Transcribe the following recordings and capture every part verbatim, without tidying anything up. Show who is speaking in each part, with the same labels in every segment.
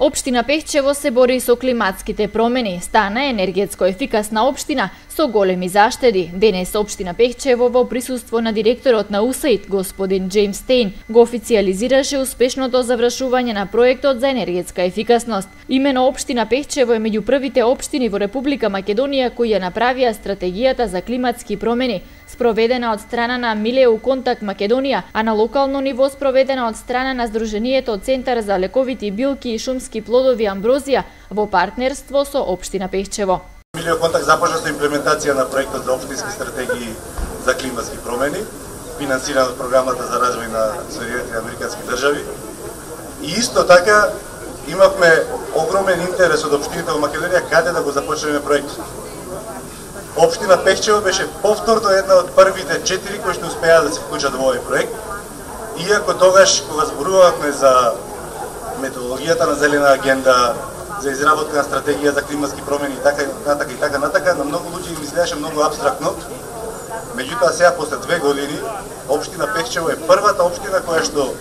Speaker 1: Општина Пехчево се бори со климатските промени, стана енергетско ефикасна општина со големи заштеди. Денес општина Пехчево во присуство на директорот на У С А И Д, господин Джеймс Стейн, го официализираше успешното завршување на проектот за енергетска ефикасност. Имено општина Пехчево е меѓу првите општини во Република Македонија кои ја направија стратегијата за климатски промени, спроведена од страна на Милеу Контакт Македонија, а на локално ниво спроведена од страна на Сдруженијето Центар за лековити билки и шумски плодови Амброзија во партнерство со општина Пехчево.
Speaker 2: Милеу Контакт започна со имплементација на проектот за општински стратегии за климатски промени, финансиран од програмата за развој на Соединетите Американски држави. И исто така имавме огромен интерес од општините во Македонија каде да го започнеме проектот. Општина Пехчево беше повторно една од првите четири кои што успеа да се вклучат во овој проект. Иако тогаш кога зборувавме за методологијата на зелена агенда, за изработка на стратегија за климатски промени и така натака и така натака, на многу луѓе им изгледаше многу апстрактно. Меѓутоа сега после две години општина Пехчево е првата општина која што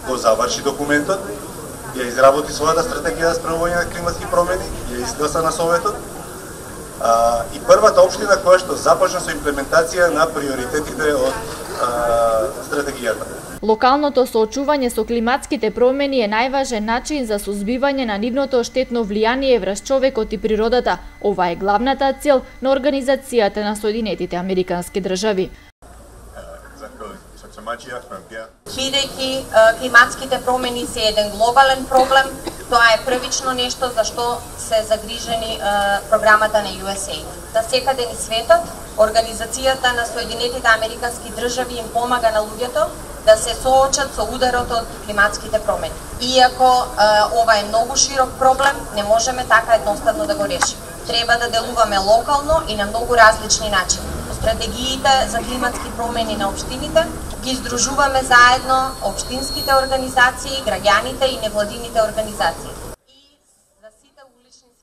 Speaker 2: го заврши документот, ја изработи својата стратегија за спроведување на климатски промени, ја изгласа на Советот. А, и првата општина која што започна со имплементација на приоритетите од а, стратегијата.
Speaker 1: Локалното соочување со климатските промени е најважен начин за сузбивање на нивното штетно влијание врз човекот и природата. Ова е главната цел на Организацијата на Соединетите Американски држави.
Speaker 3: Бидејќи климатските промени се еден глобален проблем, тоа е првично нешто за што се загрижени е, програмата на Ю Ес А И Д. Да секаде низ светот, Организацијата на Соединетите Американски држави им помага на луѓето да се соочат со ударот од климатските промени. Иако е, ова е многу широк проблем, не можеме така едноставно да го решиме. Треба да делуваме локално и на многу различни начини. Стратегиите за климатски промени на општините ги издружуваме заедно општинските организации, граѓаните и невладините организации.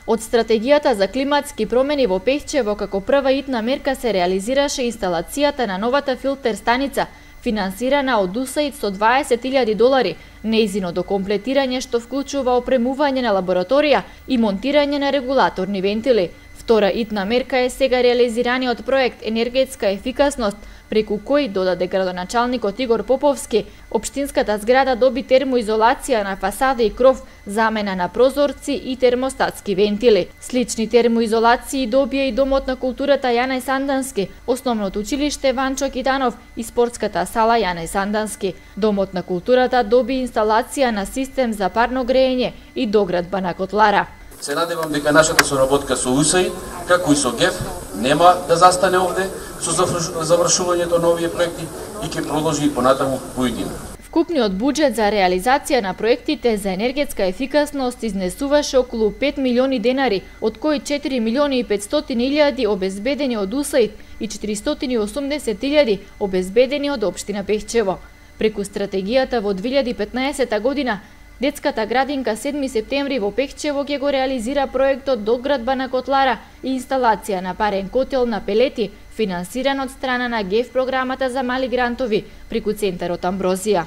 Speaker 1: Од стратегијата за климатски промени во Пехчево како прва итна мерка се реализираше инсталацијата на новата филтер станица, финансирана од У С А И Д со дваесет илјади долари, нејзиното комплетирање што вклучува опремување на лабораторија и монтирање на регулаторни вентили. Втора итна мерка е сега реализираниот проект енергетска ефикасност, преку кој, додаде градоначалникот Игор Поповски, општинската зграда доби термоизолација на фасада и кров, замена на прозорци и термостатски вентили. Слични термоизолации добија и Домот на културата Јанај Сандански, Основното училиште Ванчо Китанов и спортската сала Јанај Сандански. Домот на културата доби инсталација на систем за парно грејење и доградба на котлара.
Speaker 4: Се надевам дека нашата соработка со У С А И Д, како и со Г E F, нема да застане овде со завршувањето на овие проекти и ќе продолжи и понатаму поедино.
Speaker 1: Вкупниот буџет за реализација на проектите за енергетска ефикасност изнесуваше околу пет милиони денари, од кои четири милиони и петстотини илјади обезбедени од У С А И Д и четиристотини и осумдесет илјади обезбедени од општина Пехчево. Преку стратегијата во две илјади и петнаесета година, детската градинка седми септември во Пехчево ќе го реализира проектот доградба на котлара и инсталација на парен котел на пелети, финансиран од страна на Г E F програмата за мали грантови преку Центарот Амброзија.